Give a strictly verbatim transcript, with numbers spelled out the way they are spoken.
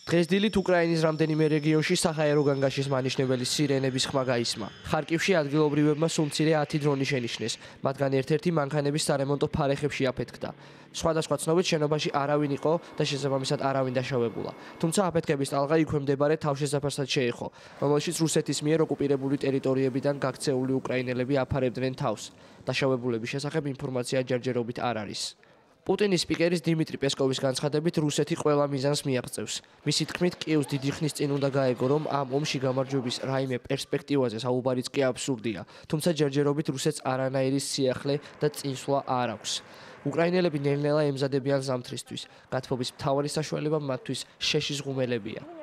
დღეს დილით უკრაინის რამდენიმე რეგიონში საჰაერო განგაშის მანიშნებელი სირენების ხმა გაისმა. ხარკივში ადგილობრივებმა სულ მცირე ათი დრონი შენიშნეს, მათგან ერთ-ერთი მანქანების სარემონტო ფარეხებში აფეთქდა. სხვადასხვა ცნობით შენობაში არავინ იყო და შესაბამისად არავინ დაშავებულა. თუმცა აფეთქების ტალღა იქვე მდებარე თავშესაფარსაც შეეხო, რომელშიც რუსეთის მიერ ოკუპირებული ტერიტორიებიდან გაქცეული უკრაინელები აფარებდნენ თავს. დაშავებულების შესახებ ინფორმაცია ჯერჯერობით არ არის. პუტინის სპიკერის დიმიტრი პესკოვის განცხადებით რუსეთი ყველა მიზანს მიაღწევს. მისი თქმით, კიევს დიდი ხნის წინ უნდა გაეგო, რომ ამ ომში გამარჯვების რაიმე პერსპექტივაზე საუბარიც კი აბსურდია, თუმცა ჯერჯერობით რუსეთს არანაირი სიახლე და წინსვლა არ აქვს. უკრაინელები ნელ-ნელა ემზადებიან ზამთრისთვის, გათბობის მთავარი საშუალება მათთვის შეშის ღუმელებია.